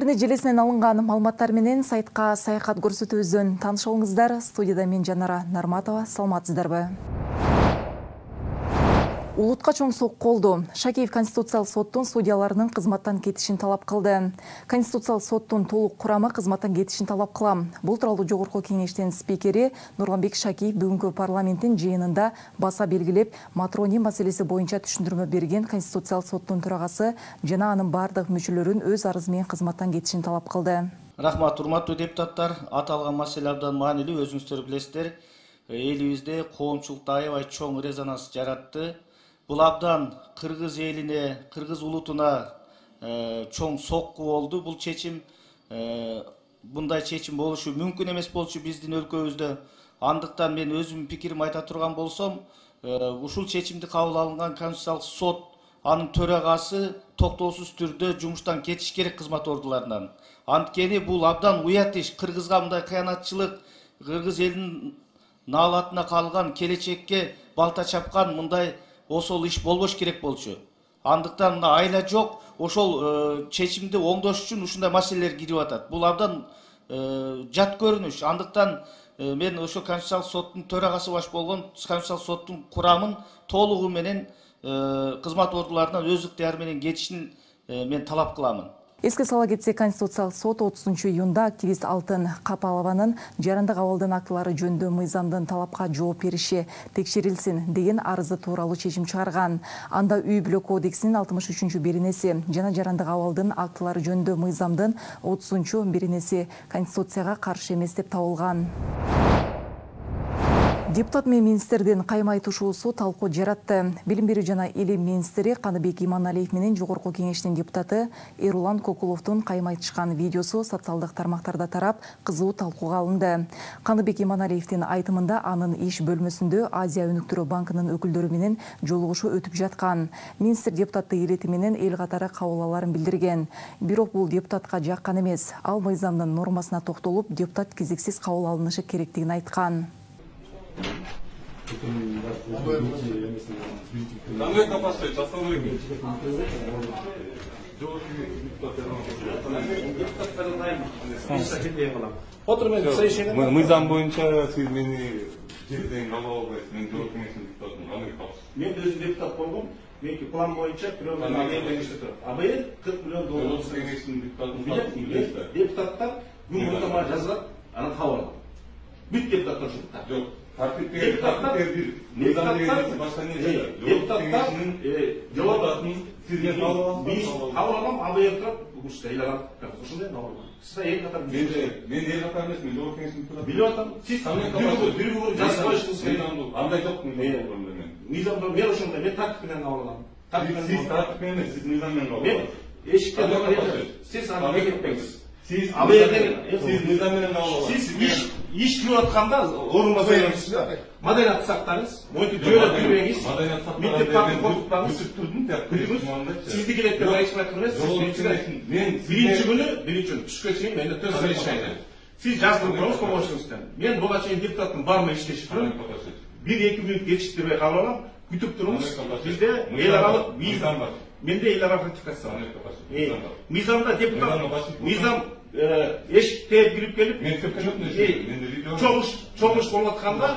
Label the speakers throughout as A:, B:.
A: Интернет желесинен алынган маалыматтар менен сайтка саякат көрсөтүүбүздөн тааныша алыңыздар. Студияда мен Жанара Нарматова. Саламатсыздарбы? Улутка чоң сокку болду. Шакеев Конституциялык соттун судьяларынын кызматтан кетишин талап кылды. Конституциялык соттун толук курамы кызматтан кетишин талап кылам. Бул тууралуу Жогорку кеңештин спикери Нурланбек Шакеев бүгүнкү парламенттин жыйынында баса белгилеп, матроний маселеси боюнча түшүндүрмө берген Конституциялык соттун төрагасы жана анын бардык мүчөлөрүн өз арызы менен кызматтан кетишин талап кылды.
B: Рахмат, урматтуу депутаттар. Аталган маселе абдан маанилүү, өзүңүздөр билесиздер. Элибизде коомчулукта аябай чоң резонанс жаратты. Бул абдан кыргыз элине, кыргыз улутуна чоң сокку болду. Бул чечим, мындай чечим болушу мүмкүн эмес болчу биздин өлкөбүздө. Андыктан мен өзүмдүн пикиримди айта турган болсом, ушул чечимди кабыл алынган Конституциялык сот, анын төрагасы токтоосуз түрдө жумуштан кетиш керек кызмат ордуларынан. Анткени бул абдан уят иш. Кыргызга мындай кыянатчылык, кыргыз элинин наалатына калган, келечекке балта чапкан мындай осол иш болбош керек болчу. Андыктан мына айла жок, ошол чечимди оңдош үчүн ушундай маселелер кирип атат. Бул абдан жат көрүнүш. Андыктан мен ошо Конституциялык соттун төрагасы баш болгон Конституциялык соттун курамын толугу менен кызмат ордуларынан өз ыктыяры менен кетишин мен талап кыламын.
A: Эске сала кетсек, Конституциялык сот 30-июнда активист Алтын Капалованын жарандык абалдын актылары жөнүндө мыйзамдын талапка жооп бериши текшерилсин деген арызы тууралуу чечим чыгарган. Анда үй бүлө кодексинин 63-беренеси жана жарандык абалдын актылары жөнүндө мыйзамдын 30-беренеси Конституцияга каршы эмес деп табылган. Депутат менен министрдин каймай тушуусу талкуу жаратты. Билим берүү жана илим министри Каныбек Иманалиев менен Жогорку кеңештин депутаты Эрулан Кокуловдун каймай тышкан видеосу социалдык тармактарда тарап, кызуу талкууга алынды. Каныбек Иманалиевдин айтымында анын иш бөлмөсүндө Азия өнүктүрүү банкынын өкүлдөрү менен жолугушуу өтүп жаткан. Министр депутатты ирети менен эл катары кабыл аларын билдирген. Бирок бул депутатка жаккан эмес. Ал мыйзамдын нормасына токтолуп, депутат кезексиз кабыл алынышы керектигин айткан.
C: Мыйзам боюнча сиз мени жерден кабыл албайсыз. Мен Жогорку кеңештин депутатымын.
D: Мен өзүм депутат болгом. Меники план боюнча бирөөдөн АБЭ 40 миллион доллар.
C: Жогорку кеңештин депутатымын.
D: Депутаттар күн мурда жазат, аны кабыл алат. Бүт депутаттар ушунда. Жок. Депутаттар сизге кабыл алам, АБЭ турат, ушундай эл алат. Ушундай кабыл алам. Сиз эл катар
C: мен эл катар эмес, мен Жогорку кеңештин депутатымын.
D: Билип атам. Сиз дүрбү жазып коюшуңуз керек.
C: Андай жок мен.
D: Мыйзамда мен ошондой, мен тартип менен кабыл алам.
C: Сиз тартип менен эмес, сиз мыйзам менен кабыл аласыз.
D: Эшикте сиз аны кетпеңиз.
C: Сиз мыйзам менен кабыл аласыз.
D: Сиз иш кылып атканда орунга коюңуз. Маданият сактаңыз, мойтуп жөөлөп жүрбөңүз. Мектеп тартып отуктаңыз. Сизди келет деп айтып эмес. Мен биринчи күнү түшкө чейин менде төз решение. Сиз жаздырып коюңуз помощниктен. Мен буга чейин депутаттын барына иштешип жүрөм. 1-2 мүнөт кечиктирбей кабыл алам. Күтүп туруңуз. Бизде эл аралык мыйзам бар. Менде эл аралык ратификация бар. Мыйзамда депутат мыйзам эшикте кирип келип, чогулуш болуп атканда,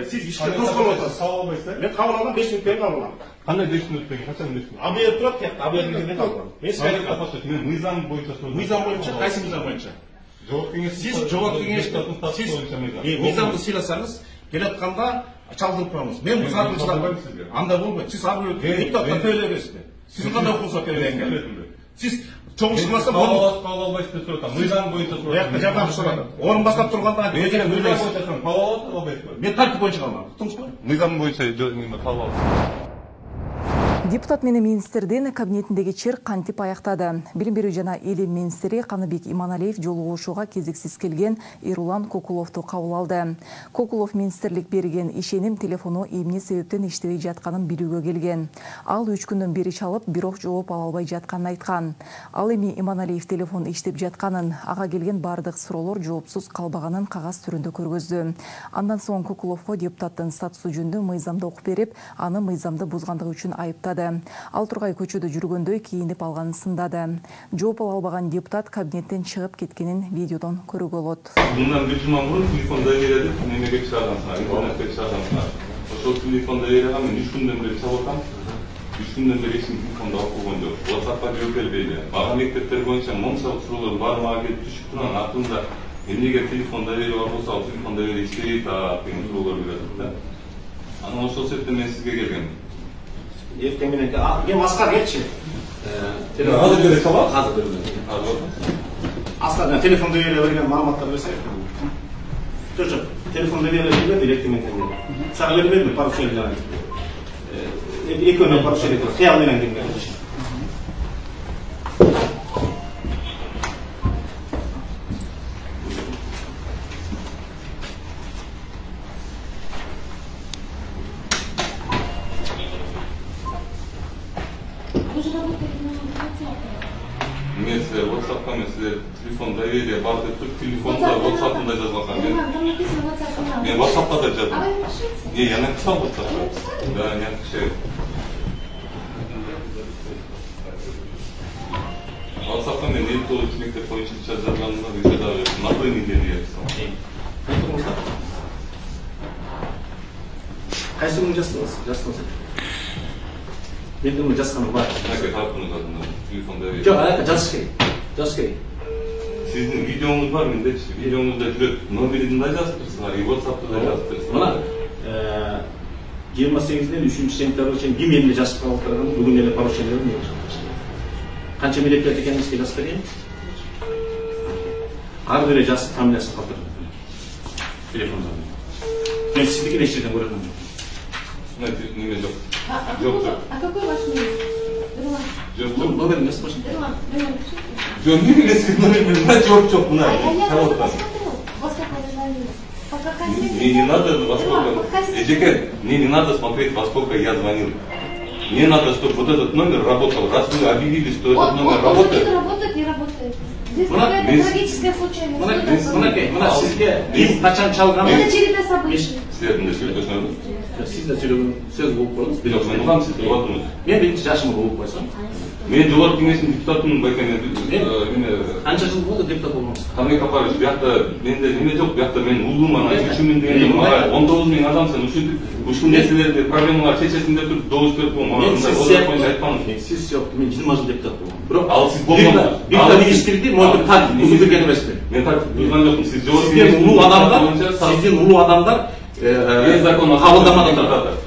D: сиз ишке тоскоолуп атасыз. Мен кабыл алам, 5 мүнөттөн кийин кабыл алам.
C: Кандай 5 мүнөттөн кийин, качан 5 мүнөт?
D: АБЭ турат, АБЭдин жеринде кабыл алам.
C: Мен мыйзам боюнча сөз.
D: Мыйзам боюнча, кайсы мыйзам боюнча? Сиз Жогорку кеңештин мыйзамды сыйласаңыз, келатканда чалдырып коюңуз. Мен сатылчылар андай болбойт. Сиз ар бир депутатка төлөбөйсүз. Сиз кандай укугуңузга төлөйсүз? Сиз чогуш кылмаса
C: кабыл албайсыз деп турат. Мыйзам боюнча турат.
D: Бияка жардам сурады. Орун баштап турганда
C: мыйзам боюнча кабыл албайсызбы?
D: Мен тартип боюнча кабыл алам. Туңузбу?
C: Мыйзам боюнча кабыл аласыз.
A: Депутат менен министрдин кабинетиндеги чыр кантип аяктады. Билим берүү жана илим министри Каныбек Иманалиев жолугушууга кезексиз келген Эрулан Кокуловду кабыл алды. Кокулов министрлик берген ишеним телефону эмне себептен иштебей жатканын билүүгө келген. Ал 3 күндөн бери чалып, бирок жооп ала албай жатканын айткан. Ал эми Иманалиев телефон иштеп жатканын, ага келген бардык суроолор жоопсуз калбаганын кагаз түрүндө көргөздү. Андан соң Кокуловго депутаттын статусу жөнүндө мыйзамды окуп берип, аны мыйзамды бузгандыгы үчүн айыптап айтады. Ал Тургай көчөдө жүргөндө кийинип алганын сындады. Жооп ала албаган депутат кабинеттен чыгып кеткенин видеодон көрүүгө болот.
C: Мындан бир жума мурун телефонда берди, немеге чыгаргансыңар, интернетке чыгаргансыңар. Ошол телефонда берген мен 3 күндөн бери чалып атам. 3 күндөн бери эч ким телефонду алып койгон жок. WhatsApp'ка жооп бербейди. Бага мектептер боюнча момшалык суроолор баары мага келип түшүп турган артында эмнеге телефонда берип бар болсо, ал телефонда берип иштебейт деген суроолор келет да. Анан ошол себептен мен сизге келгем.
D: Эртең менен мен Аскар келчи.
C: Азыр деле чалат?
D: Азыр деле. Аскар телефонда берген маалыматтар берсе. Жок, телефонда берилген эртең менен. Сага бербедим, поручение. Экөөнө поручение, кыял менен келген.
C: Мен силер WhatsApp'ка мен силер телефон доверия бар деп туруп телефонда WhatsApp'ында жазгансам мен WhatsApp'ка да жаздым. Я написал WhatsApp'ка. Да, не отвечаю. WhatsApp'ка мен 59 мектеп боюнча жазганымда еще даже на той неделе написал.
D: Кайсы күнү жаздыңыз? Мен дегенде жазганым бар.
C: Нака тарапына жаздым. Телефон доверия.
D: Жок, аяка жазыш керек.
C: Сиздин видеоңуз бар мендечи. Видеоңузда жүрөт. Номерин да жазып турсуңар, и WhatsApp'та да жазып турсуңар.
D: Мына 28-ден 3 сентябрга чейин ким эмне жазып калдырган, бүгүн эле поручение бердим. Канча милиция экенин жазып берейин. Ар бири жазып фамилиясын калтырдым. Телефондон. Мен сиздики эч жерден көргөнүм жок.
C: Смотрите, неме жок. Жок.
E: А какой ваш номер?
C: Жок.
D: Номер эмес башын.
C: Жок, номер мына жок мына. Мне не надо во сколько. Жеке, мне не надо смотреть, во сколько я звонил. Мне надо, чтобы вот этот номер работал. Раз вы объявили, что этот номер работает.
E: Он работает, не работает. Здесь какая-то трагическая случайность.
D: Мына сизге ким качан чалган?
E: Это череда событий.
C: Силердин сөйлөшүңөр.
D: Сиз да сүйлөгөн сөз болуп коңуз.
C: Бирок мен улам сиз болотмун.
D: Мен биринчи жашымда болуп койсом.
C: Мен жогорку кеңештин депутатымын байкене.
D: Канча жыл болду депутат болгонуңуз?
C: Камек апарыч, биякта менде неме жок, биякта мен улуум анан үчүмүн дегенде мага 19 миң адамсың, ушул нерселерди проблемалар чечесиң деп туруп добуш берип койгон.
D: Мен сиз сиз мен 20 жыл депутат болгом. Бирок ал сиз болгон. Биякта министрди монтип так узун берген эмесмин.
C: Мен так узган жокмун. Сиз жогорку
D: сиздин улуу адамдар кабылдамадан турат.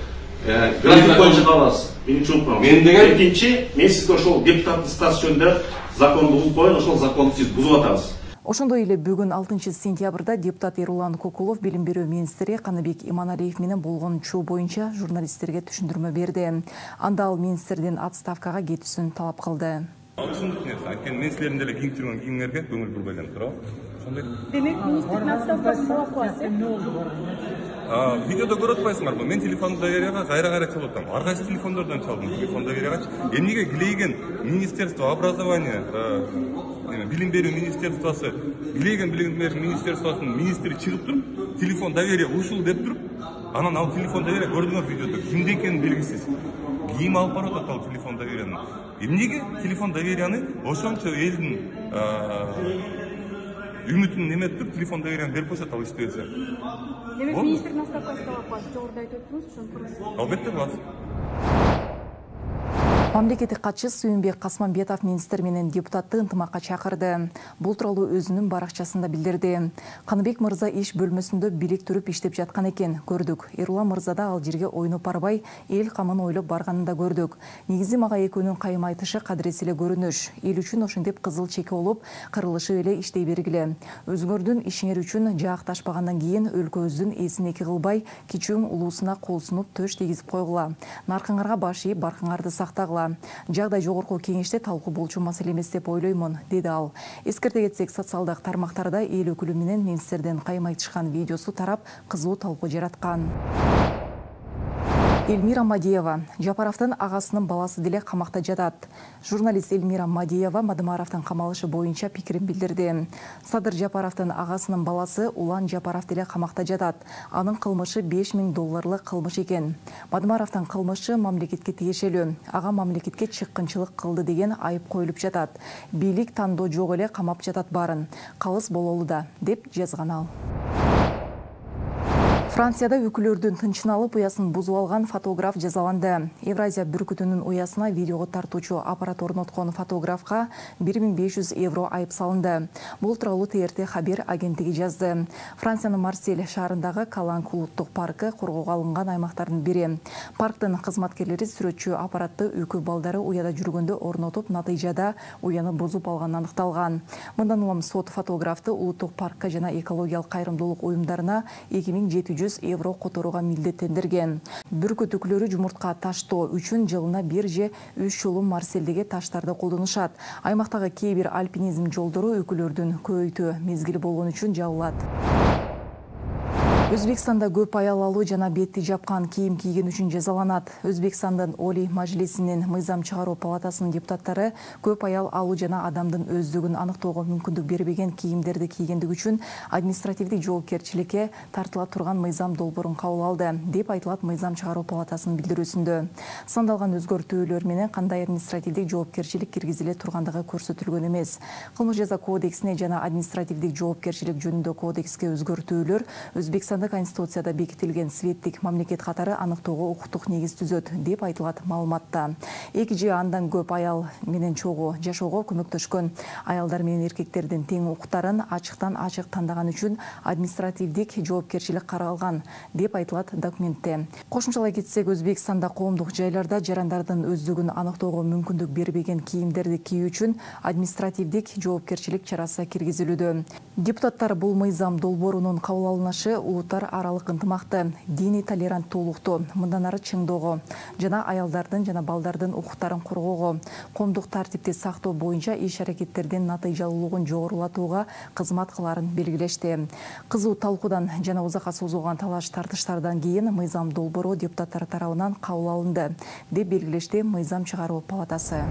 D: График боюнча калабыз. Биринчи укук.
C: Мен деген
D: экинчи, мен сизге ошол депутаттык статус жөнүндө законду угуп коюн, ошол законду сиз бузуп атасыз.
A: Ошондой эле бүгүн 6-сентябрда депутат Эрулан Кокулов билим берүү министри Каныбек Иманалиев менен болгон чуу боюнча журналисттерге түшүндүрмө берди. Анда ал министрдин отставкага кетүүсүн талап кылды.
C: Ушундук нерсе. Анткени мен силердин деле кийинип жүргөн кийимиңерге көңүл бурбайдан туурабы? Ошондой.
E: Демек, министрдин отставкасы талап кыласыз.
C: Видеодо көрүп атпайсыңарбы? Мен телефон доверияга кайра чалып атам. Ар кайсы телефондордон чалдым телефон доверияга. Эмнеге Глейген министерство образования, билим берүү министерствосу, Глейген билим берүү министерствосунун министри чыгып туруп, телефон доверия ушул деп туруп, анан ал телефон доверия көрдүңөр видеодо. Кимде экени белгисиз. Ким алып барып атат ал телефон доверияны? Эмнеге телефон доверияны ошончо элдин үмүтүн неметип туруп телефон доверияны берип койсот ал иштебесе.
E: Демек, министрдин отставкасы талап кыласыз. Жогоруда айтып өттүңүз, ошону кыласыз.
C: Албетте кыласыз.
A: Мамлекеттик катчы Сүйүнбек Касманбетов министр менен депутатты ынтымакка чакырды. Бул тууралуу өзүнүн баракчасында билдирди. Каныбек мырза иш бөлмөсүндө бийлик туруп иштеп жаткан экен, көрдүк. Эрулан мырза да ал жерге ойноп барбай, эл камын ойлоп барганын да көрдүк. Негизи мага экөөнүн кайым айтышы кадыресе эле көрүнүш. Эл үчүн ошентип кызыл чеке болуп, кырылышып эле иштей бергиле. Өзүңөрдүн ишиңер үчүн жаакташпагандан кийин өлкөбүздүн эсин эки кылбай, кичүүң улуусуна кол сунуп төш тийгизип койгула. Наркыңарга баш ийип, баркыңарды сактагыла. Жагдай жогорку кеңеште талкуу болчу маселе эмес деп ойлоймун, деди ал. Эскерте кетсек, социалдык тармактарда эл өкүлү менен министрдин кайым айтышкан видеосу тарап, кызуу талкуу жараткан. Эльмира Мадиева Жапаровдун агасынын баласы деле камакта жатат. Журналист Эльмира Мадиева Мадымаровдун камалышы боюнча пикирин билдирди. Садыр Жапаровдун агасынын баласы Улан Жапаров деле камакта жатат. Анын кылмышы $5000 кылмыш экен. Мадымаровдун кылмышы мамлекетке тиешелүү. Ага мамлекетке чыккынчылык кылды деген айып коюлуп жатат. Бийлик тандоо жок эле камап жатат баарын. Калыс бололу да, деп жазган ал. Францияда өкүлөрдүн тынчын алып уясын бузуп алган фотограф жазаланды. Евразия бүркүтүнүн уясына видеого тартуучу аппарат орноткон фотографка €1500 айып салынды. Бул тууралуу ТРТ хабар агенттиги жазды. Франциянын Марсель шаарындагы Каланг улуттук паркы коргоого алынган аймактардын бири. Парктын кызматкерлери сүрөтчү аппаратты өкү балдары уяда жүргөндө орнотуп, натыйжада уяны бузуп алганы аныкталган. Мындан улам сот фотографты улуттук паркка жана экологиялык кайрымдуулук уюмдарына €2700 которууга милдеттендирген. Бүркүт өкүлөрү жумуртка таштоо үчүн жылына 1 же 3 жолу Марселдеги таштарды колдонушат. Аймактагы кээ бир альпинизм жолдору өкүлөрдүн көбөйтүү мезгили болгон үчүн жабылат. Өзбекстанда көп аялалуу жана бетти жапкан кийим кийген үчүн жазаланат. Өзбекстандын Олий Мажлисинин мыйзам чыгаруу палатасынын депутаттары көп аял алуу жана адамдын өздүгүн аныктоого мүмкүндүк бербеген кийимдерди кийгендиги үчүн административдик жоопкерчиликке тартыла турган мыйзам долбоорун кабыл алды, деп айтылат мыйзам чыгаруу палатасынын билдирүүсүндө. Сандалган өзгөртүүлөр менен кандай административдик жоопкерчилик киргизиле тургандыгы көрсөтүлгөн эмес. Кылмыш жаза кодексине жана административдик жоопкерчилик жөнүндө кодекске өзгөртүүлөр Өзбекстанда Конституцияда бекитилген светтик мамлекет катары аныктоого укуктук негиз түзөт, деп айтылат маалыматта. 2 же андан көп аял менен чогуу жашоого көмөктөшкөн, аялдар менен эркектердин тең укуктарын ачыктан ачык тандаган үчүн административдик жоопкерчилик каралган, деп айтылат документте. Кошумчалай кетсек, Өзбекстанда коомдук жайларда жарандардын өздүгүн аныктоого мүмкүндүк бербеген кийимдерди кийүү үчүн административдик жоопкерчилик чарасы киргизилүүдө. Депутаттар бул мыйзам долбоорунун кабыл алынышы улуттар аралык ынтымакты, диний толеранттуулукту мындан ары чыңдоого жана аялдардын жана балдардын укуктарын коргоого, коомдук тартипти сактоо боюнча иш-аракеттердин натыйжалуулугун жогорулатууга кызмат кылаарын белгилешти. Кызуу талкуудан жана узакка созулган талаш-тартыштардан кийин мыйзам долбоору депутаттар тарабынан кабыл алынды, деп белгилешти мыйзам чыгаруу палатасы.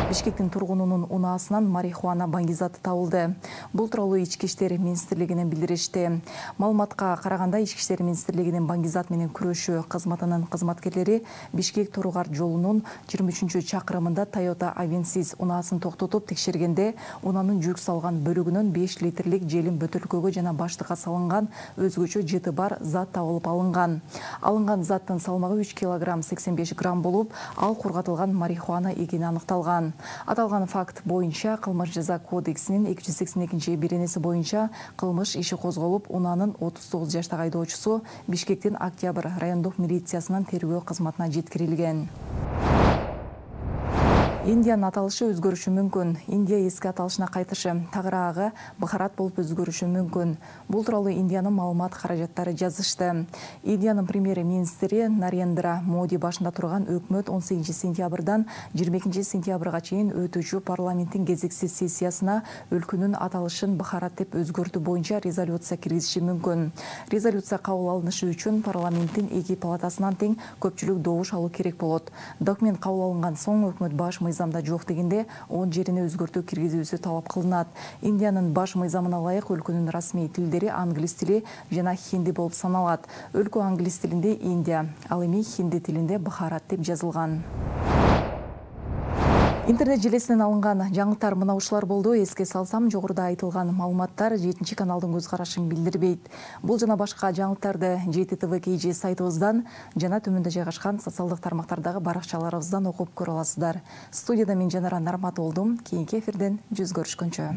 A: Бишкектин тургунунун унаасынан марихуана баңгизаты табылды. Бул тууралуу Ички иштер министрлигинен билдиришти. Маалыматка караганда Ички иштер министрлигинин баңгизат менен күрөшүү кызматынын кызматкерлери Бишкек-Торугар жолунун 23-чакырымында Toyota Avensis унаасын токтотуп текшергенде, унанын жүк салган бөлүгүнөн 5 литрлик желим бөтөлкөгө жана баштыкка салынган өзгөчө жыты бар зат табылып алынган. Алынган заттын салмагы 3 кг 85 грамм болуп, ал кургатылган марихуана экени аныкталган. Аталган факт боюнча Кылмыш жаза кодексинин 282-беренеси боюнча кылмыш иши козголуп, унанын 39 жаштагы айдоочусу Бишкектин Октябрь райондук милициясынын тергөө кызматына жеткирилген. Индиянын аталышы өзгөрүшү мүмкүн. Индия эски аталышына кайтышы тагыраагы Бахарат болуп өзгөрүшү мүмкүн. Бул тууралуу Индиянын маалымат каражаттары жазышты. Индиянын премьер-министри Нарендра Моди башында турган өкмөт 18-сентябрдан 22-сентябрга чейин өтүүчү парламенттин кезексиз сессиясына өлкөнүн аталышын Бахарат деп өзгөртүү боюнча резолюция киргизиши мүмкүн. Резолюция кабыл алынышы үчүн парламенттин эки палатасынан тең көпчүлүк добуш алуу керек болот. Документ кабыл алынган соң өкмөт баш мыйзамда жок дегенде 10 жерине өзгөртүү киргизүүсү талап кылынат. Индиянын баш мыйзамына ылайык өлкөнүн расмий тилдери англис тили жана хинди болуп саналат. Өлкө англис тилинде Индия, ал эми хинди тилинде Бахарат деп жазылган. Интернет желесинен алынган жаңылыктар мына ушулар болду. Эске салсам, жогоруда айтылган маалыматтар 7 каналдын көз карашын билдирбейт. Бул жана башка жаңылыктарды JTTV KG сайтыбыздан жана төмөндө жайгашкан социалдык тармактардагы баракчаларыбыздан окуп көрө аласыздар. Студияда мен Жанара Нармат болдум. Кийинки эфирден жүз көрүшкөнчө.